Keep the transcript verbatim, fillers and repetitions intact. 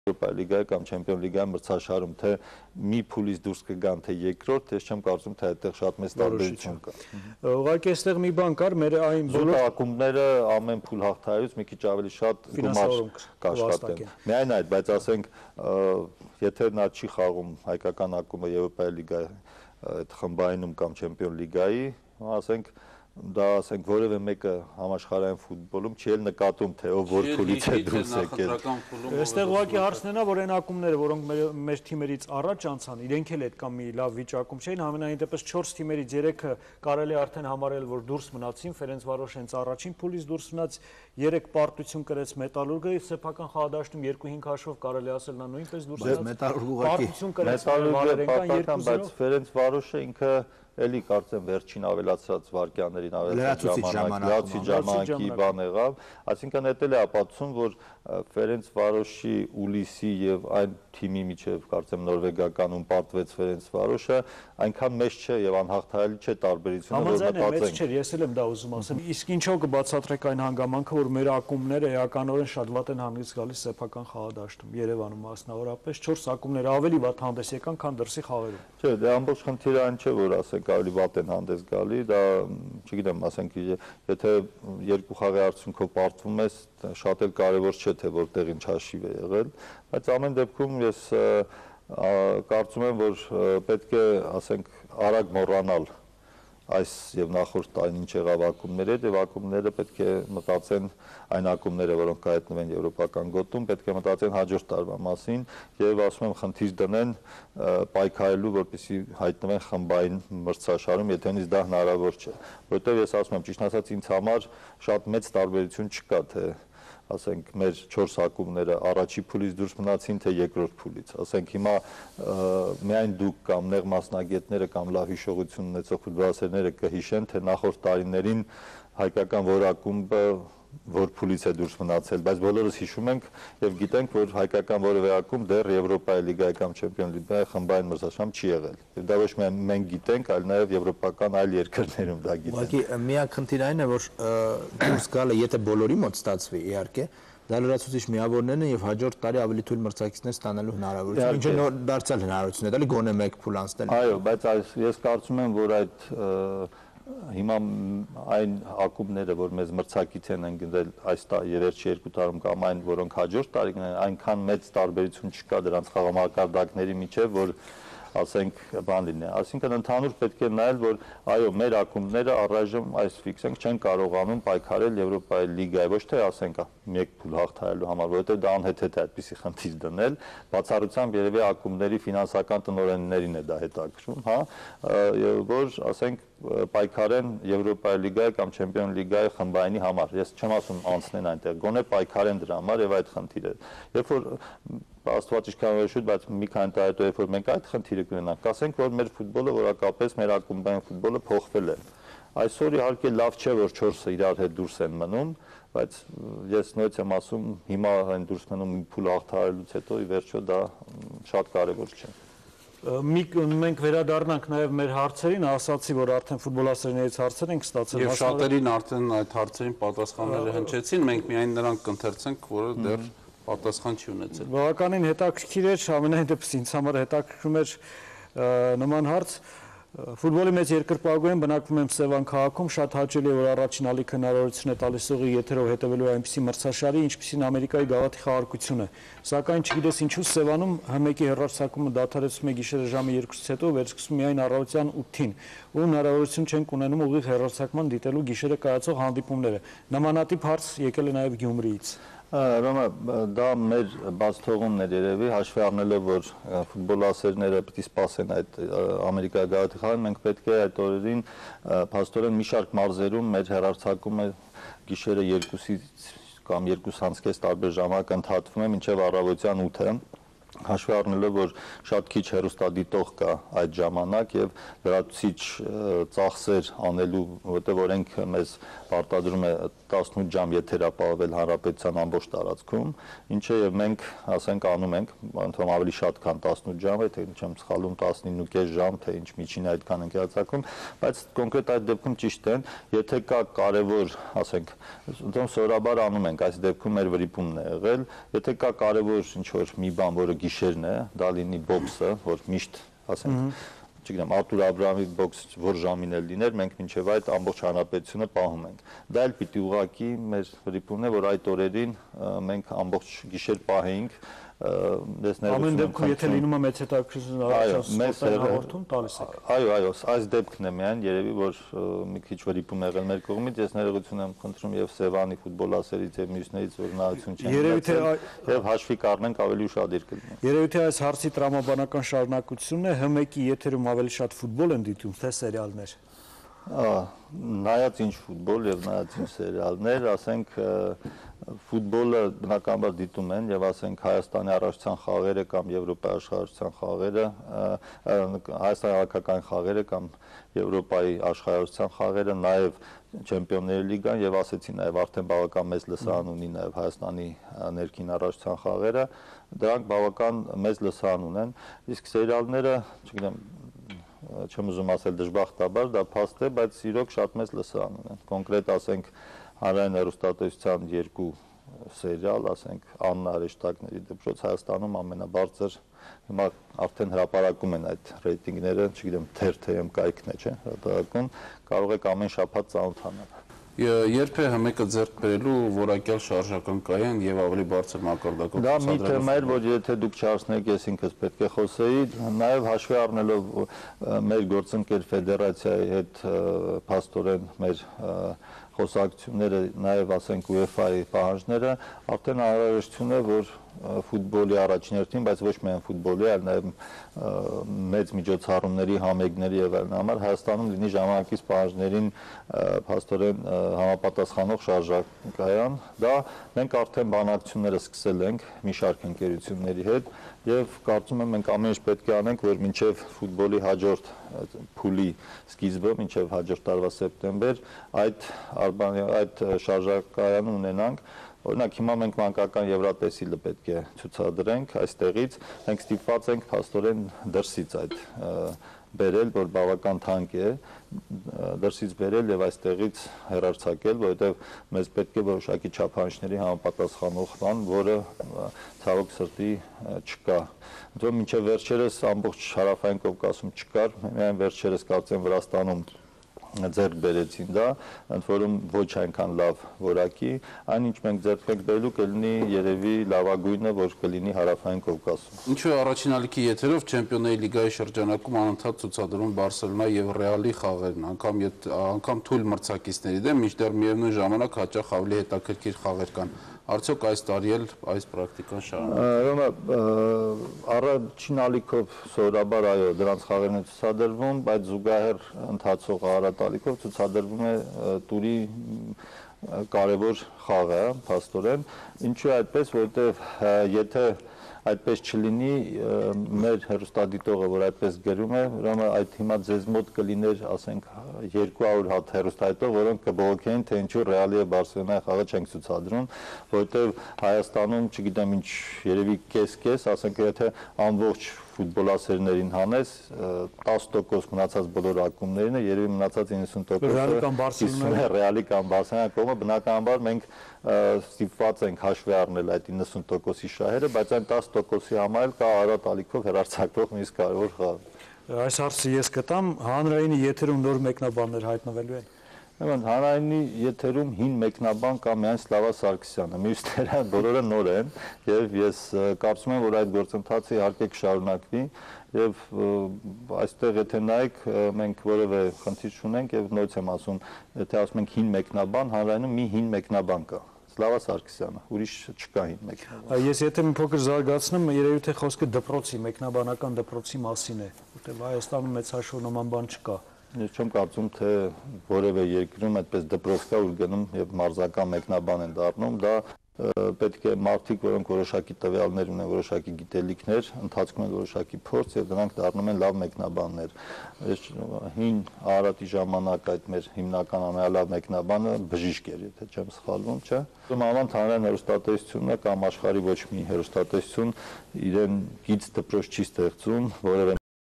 Եվրոպայի լիգայի կամ Չեմպիոն լիգայի մրցաշարում, թե մի փուլից դուրս կգան, թե երկրորդ, ես չեմ կարծում, թե այդտեղ շատ մեծ տարբերություն կա։ Ուղղակի այստեղ մի բան կար, մեր այն բոլոր ակումբները ամեն փուլ հաղթահարից մի քիչ ավելի շատ գումար կաշխատեն։ Միայն այդ, բայց ասենք, եթե նա չի խաղում հայկական ակումբը Եվրոպայի լիգայի այդ խմբայինում կամ Չեմպիոն լիգայի, ասենք դա ասենք որևէ մեկը համաշխարհային ֆուտբոլում չի էլ նկատում, թե ով որ փուլից է դուրս եկել։ Այստեղ ուղղակի հարցն է, որ այն ակումբները, որոնք մեր թիմերից առաջ անցան, իրենք էլ այդքան մի լավ վիճակում չէին, համենայն դեպս չորս թիմերից երեքը կարելի արդեն համարել, որ դուրս մնացին, Ֆերենցվարոշը հենց առաջին փուլից դուրս մնաց, երեք պարտություն կրեց Մետալուրգը, սեփական խաղադաշտում երկու հինգ հաշվով կարելի ասել նա նույնպես դուրս մնաց։ Պարտություն կրեց Վալերենկան երկու զիրո։ Բայց Ֆերենցվարոշը ինքը էլի կարծեմ վերջին ավելացած վարկյաններին ավելացած ժամանակ, ժամանակի բան եղավ, այսինքն դա էլ է ապացուցում, որ Ֆերենցվարոշի Ուլիսի եւ այն թիմի միջև կարծեմ նորվեգականում պարտվեց Ֆերենցվարոշը, այնքան մեծ չէ եւ անհաղթահարելի չէ տարբերությունը, որ մտածենք։ Մեծ չէ, ես էլ եմ դա ուզում ասեմ։ Իսկ ինչով կբացատրեք այն հանգամանքը, որ մեր ակումբները էականորեն շատ վատ են հանգիստ գալիս սեփական խաղադաշտում, Երևանում մասնավորապես չորս ակումբները ավելի վատ հանդես եկան, քան դրսի խաղերում։ Չէ, դա ամբողջ խնդիրը այն չէ, որ ասենք ավելի վատ են հանդես գալի, դա չգիտեմ, ասենք, եթե երկու խաղի արդյունքով պարտվում ես, շատ էլ կարևոր չէ, թե որտեղ ինչ հաշիվ է եղել, բայց ամեն դեպքում ես կարծում եմ, որ պետք է, ասենք, արագ մոռանալ այս եւ նախորդ տարին ինչ եղավ ակումբների հետ, եւ ակումբները պետք է մտածեն, այն ակումբները, որոնք կհայտնվեն եվրոպական գոտում, պետք է մտածեն հաջորդ տարվա մասին եւ ասում եմ խնդիր դնեն պայքարելու, որպեսզի հայտնվեն խմբային մրցաշարում, եթե նույնիսկ դա հնարավոր չէ, որովհետեւ ես ասում եմ, ճիշտ ասած ինձ համար շատ մեծ տարբերություն չկա, թե ասենք մեր չորս ակումբները առաջի փուլից դուրս մնացին, թե երկրորդ փուլից, ասենք հիմա միայն դուք կամ նեղ մասնագետները կամ լավ հիշողություն ունեցող ֆուտբոլասերները կհիշեն, թե նախորդ տարիներին հայկական որ ակումբը որ փուլից է դուրս մնացել, բայց բոլորս հիշում ենք եւ գիտենք, որ հայկական որևէ ակումբ դեռ Եվրոպայի լիգայի կամ Չեմպիոն լիգայի խմբային մրցաշարում չի եղել։ Եվ դա ոչ միայն մենք գիտենք, այլ նաեւ եվրոպական այլ երկրներում դա գիտենք։ Ուղղակի միակ խնդիրը այն է, որ դուրս գալը, եթե բոլորի մոտ ստացվի, իհարկե, դա լրացուցիչ միավորներն են եւ հաջորդ տարի ավելի թույլ մրցակիցներ ստանալու հնարավորություն, ինչը նոր դարձյալ հնարավորություն է, դալի գոնե մեկ փուլ անցնել։ Այո, բայց ես կարծում եմ, որ այդ հիմա այն ակումբները, որ մեզ մրցակից են ընկնել այս վերջի երկու տարում կամ այն, որոնք հաջորդ տարի կնեն, այնքան մեծ տարբերություն չկա դրանց խաղամակարդակների միջև, որ ասենք բան լինի, այսինքն ընդհանուր պետք է նայել, որ այո, մեր ակումբները առայժմ այս ֆիքսենք չեն կարողանում պայքարել Եվրոպայի լիգայի, ոչ թե ասենք մեկ փուլ հաղթահարելու համար, որովհետև դա անհեթեթ է այդպիսի խնդիր դնել, բացառությամբ երևի ակումբների ֆինանսական տնօրեններին է դա հետաքրքրում, հա, որ ասենք պայքարեն Եվրոպայի լիգայի կամ Չեմպիոն լիգայի խմբայինի համար։ Ես չեմ ասում անցնեն այնտեղ, գոնե պայքարեն դրա համար եւ այդ խնդիրը։ Երբ որ Աստված ինչքան որ շուտ, բայց մի քանի տարի հետո երբ որ մենք այդ խնդիրը կունենանք, ասենք որ մեր ֆուտբոլը որակապես մեր ակումբային ֆուտբոլը փոխվել է։ Այսօր իհարկե լավ չէ, որ չորսը իրար հետ դուրս են մնում, բայց ես նույնիսկ եմ ասում, հիմա այն դուրս մնում մի փուլ հաղթահարելուց հետո ի վերջո դա շատ կարեւոր չէ։ Մենք վերադառնանք նաև մեր հարցերին, ասացի, որ արդեն ֆուտբոլասերներից հարցեր ենք ստացել։ Եվ շատերին արդեն այդ հարցերին պատասխանները հնչեցին, մենք միայն նրանք կընթերցենք, որը դեռ պատասխան չի ունեցել։ Բավականին հետաքրքիր էր, ամենայն դեպս ինձ համար հետաքրքրում էր նման հարց։ Ֆուտբոլի մեծ երկրպագուեն բնակվում եմ Սևան քաղաքում, շատ հաճելի է, որ առաջին ալիք հնարավորություն է տալիս ուղիղ եթերով հետևելու այնպիսի մրցաշարի, ինչպիսին Ամերիկայի գավաթի խաղարկությունը։ Սակայն չգիտես ինչու Սևանում Հ մեկի հեռարձակումը դադարեցվում է գիշերը ժամը երկուսից հետո, վերսկսում միայն առավոտյան ութին, ու հնարավորություն չենք ունենում ուղիղ հեռարձակման դիտելու գիշերը կայացող հանդիպումները։ Նմանատիպ հարց եկել է նաև Գյումրիից։ Ռոմա, դա մեր բաց թողումն էր երևի, հաշվի առնելով, որ ֆուտբոլասերները պետք է սպասեն այդ Ամերիկայի գավաթի խաղին, մենք պետք է այդ օրերին փաստորեն մի շարք մարզերում մեր հեռարձակումը գիշերը երկուսից կամ երկուս անց կես տարբեր ժամանակ ընդհատվում է մինչև առավոտյան ութը, հաշվի առնելով, որ շատ քիչ հեռուստադիտող կա այդ ժամանակ եւ լրացուցիչ ծախսեր անելու, որտեղ օրենք մեզ պարտադրում է տասնութ ժամ եթերապահովել հանրապետության ամբողջ տարածքում, ինչը եւ մենք, ասենք, անում ենք, անդամ ավելի շատ քան տասնութ ժամ է, թե չեմ սխալվում տասնինը ու կես ժամ, թե ինչ միջին այդքան ենք հացակում, բայց կոնկրետ այդ դեպքում ճիշտ են, եթե կա կարևոր, ասենք, ըստ սովորաբար անում ենք, այս դեպքում մեր վրիպումն է եղել, եթե կա կարևոր ինչ որ մի բան, որը գիշերն է, դա լինի բոքսը, որ միշտ, ասենք, չգիտեմ, Արտուր Աբրահամի բոքս որ ժամին էլ լիներ, մենք մինչև այդ ամբողջ հանրապետությունը պահում ենք։ Դա էլ պիտի ուղղակի մեր վրիպումն է, որ այդ օրերին մենք ամբողջ գիշեր պահեինք, Ամեն դեպքում եթե լինում է մեծ հետաքրքրություն առաջացնում հաղորդում տալիս եք։ Այո, այո, այս դեպքն է միայն երևի որ մի քիչ վրիպում եղել մեր կողմից, ես ներողություն եմ խնդրում եւ Սևանի ֆուտբոլասերից եւ մյուսներից որ նայություն չեն ունեցել եւ հաշվի կառնենք ավելի ուշադիր կլինի։ Երևի թե այս հարցի տրամաբանական շարունակությունն է Հ մեկի եթերում ավելի շատ ֆուտբոլ են դիտում, թե սերիալներ։ Նայած ինչ ֆուտբոլ եւ նայած ինչ սերիալներ, ասենք ֆուտբոլը բնականաբար դիտում են եւ ասենք Հայաստանի առաջնության խաղերը կամ Եվրոպայի աշխարհության խաղերը, Հայաստանի հավաքական խաղերը կամ Եվրոպայի աշխարհության խաղերը, նաեւ Չեմպիոնների լիգան եւ ասեցի նաեւ արդեն բավական մեծ լսարան ունի նաեւ Հայաստանի ներքին առաջնության խաղերը, դրանք բավական մեծ լսարան ունեն, իսկ սերիալները, չգիտեմ, չեմ ուզում ասել դժբախտաբար, դա փաստ է, բայց իրոք շատ մեծ լսարան ունեն։ Կոնկրետ ասենք հանրային հեռուստատեսության երկու սերիալ, ասենք Աննա Արեշտակների դպրոց Հայաստանում ամենաբարձր, հիմա արդեն հրապարակում են այդ ռեյտինգները, չգիտեմ, թերթ-ը կայքն է, չէ՞, հրապարակում, կարող եք ամեն շաբաթ ծանոթանալ։ Երբ է Հ մեկը ձեռք բերելու որակյալ շարժական կայան եւ ավելի բարձր մակարդակով Դա մի թեմա էր, որ եթե դուք չհարցնեք, ես ինքս պետք է խոսեի, նաեւ հաշվի առնելով մեր գործընկեր ֆեդերացիայի հետ փաստորեն մեր խոսակցությունները, նաեւ ասենք UEFA-ի պահանջները, արդեն անհրաժեշտություն է, որ ֆուտբոլի առաջին հերթին, բայց ոչ միայն ֆուտբոլի, այլ նաեւ մեծ միջոցառումների, համերգների եւ այլն համար Հայաստանում լինի ժամանակից պահանջներին փաստորեն համապատասխանող շարժակայան։ Դա մենք արդեն բանակցությունները սկսել ենք մի շարք ընկերությունների հետ եւ կարծում եմ մենք ամեն ինչ պետք է անենք, որ մինչեւ ֆուտբոլի հաջորդ փուլի սկիզբը, մինչեւ հաջորդ տարվա սեպտեմբեր այդ այդ շարժակայանը ունենանք։ Օրինակ հիմա մենք մանկական Եվրատեսիլը պետք է ցուցադրենք այստեղից, մենք ստիպված ենք փաստորեն դրսից այդ բերել, որ բավական թանկ է, դրսից բերել եւ այստեղից հեռարձակել, որովհետեւ մեզ պետք է որոշակի չափանիշների համապատասխանող բան, որը ցավոք սրտի չկա։ Դու մինչեւ վերջերս ամբողջ հարավային Կովկասում չկար, միայն վերջերս կարծեմ Վրաստանում ձեռք բերեցին դա, ընդ որում ոչ այնքան լավ որակի, այն ինչ մենք ձեռք ենք բերելու կլինի երևի լավագույնը, որ կլինի հարավային Կովկասում։ Ինչու է առաջին ալիքի եթերով Չեմպիոնների լիգայի շրջանակում անընդհատ ցուցադրում Բարսելոնայի եւ Ռեալի խաղերն, անգամ անգամ թույլ մրցակիցների դեմ, մինչդեռ միևնույն ժամանակ հաճախ ավելի հետաքրքիր խաղեր կան։ Արդյոք այս տարի էլ այս պրակտիկան շարունակվի։ Առաջին ալիքով սովորաբար այո, դրանց խաղերն են ցուցադրվում, բայց զուգահեռ ընթացող առատալիքով ցուցադրվում է տուրի կարևոր խաղը, փաստորեն։ Ինչու է այդպես, որովհետև եթե այդպես չլինի, մեր հեռուստադիտողը, որ այդպես գրում է, ուրեմն այդ հիմա ձեզ մոտ կլիներ, ասենք, երկու հարյուր հատ հեռուստադիտող, որոնք կբողոքեին, թե ինչու Ռեալի եւ Բարսելոնայի խաղը չենք ցուցադրում, որովհետեւ Հայաստանում, չգիտեմ ինչ, երևի կես-կես, ասենք, եթե ամբողջ ֆուտբոլասերներին հանես, տասը տոկոս մնացած բոլոր ակումբներին է, երևի մնացած իննսուն տոկոսը Ռեալի կամ Բարսելոնայի կողմը, բնականաբար մենք ստիպված ենք հաշվի առնել այդ իննսուն տոկոսի շահերը, բայց այն տասը տոկոսի համար էլ կա առատ ալիքով հեռարձակվող մի կարևոր խաղ։ Այս հարցը ես կտամ, հանրայինի եթերում նոր մեկնաբաններ հայտնվելու են։ Ուրեմն հանրայինի եթերում հին մեկնաբան կա միայն Սլավա Սարգսյանը, մյուսները բոլորը նոր են եւ ես կարծում եմ, որ այդ գործընթացը իհարկե կշարունակվի եւ այստեղ եթե նայեք մենք որևէ խնդիր չունենք եւ նորից եմ ասում, եթե ասում ենք հին մեկնաբան, հանրայինում մի հին մեկնաբան կա։ Սլավա Սարգսյանը, ուրիշ չկա հին մեկնաբան։ Ես եթե մի փոքր զարգացնեմ, երևի թե խոսքը դպրոցի, մեկնաբանական դպրոցի մասին է, որտեղ Հայաստանում մեծ հաշվով նման բան չկա։ Ես չեմ կարծում, թե որևէ երկրում այդպես դպրոց կա, ուր գնում եւ մարզական մեկնաբան են դառնում, դա պետք է մարդիկ, որոնք որոշակի տվյալներ ունեն, որոշակի գիտելիքներ, ընթացքում են որոշակի փորձ եւ դրանք դառնում են լավ մեկնաբաններ։ Այս հին Արարատի ժամանակ այդ մեր հիմնական ամենալավ մեկնաբանը բժիշկ էր, եթե չեմ սխալվում, չէ՞։ Մանավանդ հանրային հեռուստատեսությունը կամ աշխարհի ոչ մի հեռուստատեսություն իրեն գիծ դպրոց չի ստեղծում, որևէ